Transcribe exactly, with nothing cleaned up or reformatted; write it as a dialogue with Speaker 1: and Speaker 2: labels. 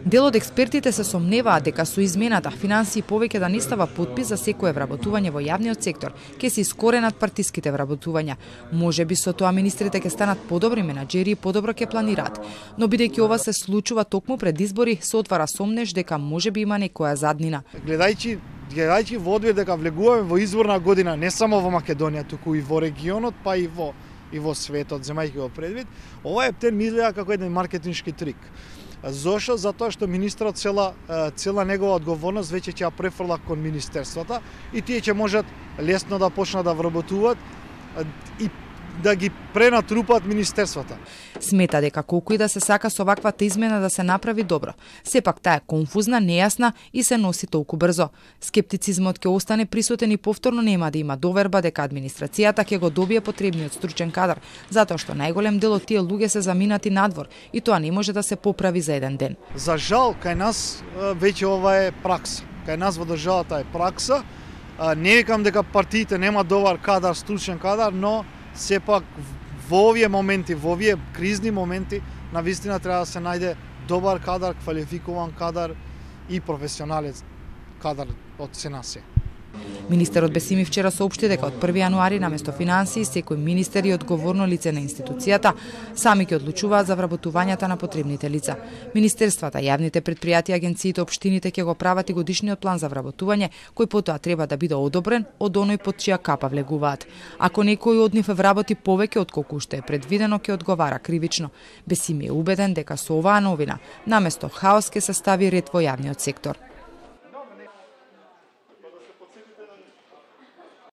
Speaker 1: Дел од експертите се сомневаат дека со измената финансии повеќе да не става подпис за секое вработување во јавниот сектор, ќе се искоренат партиските вработувања. Можеби со тоа министрите ќе станат подобри менаџери и подобро ќе планираат. Но бидејќи ова се случува токму пред избори, се отвара сомнеш дека можеби има некоја заднина.
Speaker 2: Гледајќи гледајќи во одвир дека влегуваме во изборна година не само во Македонија, туку и во регионот, па и во и во светот, земајќи го предвид, ова ептен ми изгледа како еден маркетиншки трик. Зошто? Затоа што министрот цела цела негова одговорност веќе ќе ја префрла кон министерствата и тие ќе можат лесно да почнат да вработуваат и да ги пренатрупат министерствата.
Speaker 1: Смета дека колку и да се сака со ваквата измена да се направи добро, сепак таа е конфузна, нејасна и се носи толку брзо. Скептицизмот ќе остане присутен и повторно нема да има доверба дека администрацијата ќе го добие потребниот стручен кадар, затоа што најголем дел од тие луѓе се заминати надвор и тоа не може да се поправи за еден ден.
Speaker 2: За жал, кај нас веќе ова е пракса. Кај нас во државата е пракса. Не викам дека партиите нема добар кадар, стручен кадар, но сепак во овие моменти, во овие кризни моменти, навистина треба да се најде добар кадар, квалификуван кадар и професионалец кадар од се на се.
Speaker 1: Министерот Бесими вчера соопшти дека од први јануари наместо финансии секој министер и одговорно лице на институцијата сами ќе одлучуваат за вработувањата на потребните лица. Министерствата, јавните предпријатија, агенциите, општините ќе го прават и годишниот план за вработување, кој потоа треба да биде одобрен од оној под чија капа влегуваат. Ако некој од нив вработи повеќе од колку што е предвидено, ќе одговара кривично. Бесими е убеден дека со оваа новина наместо хаос ќе се стави ред во јавниот сектор.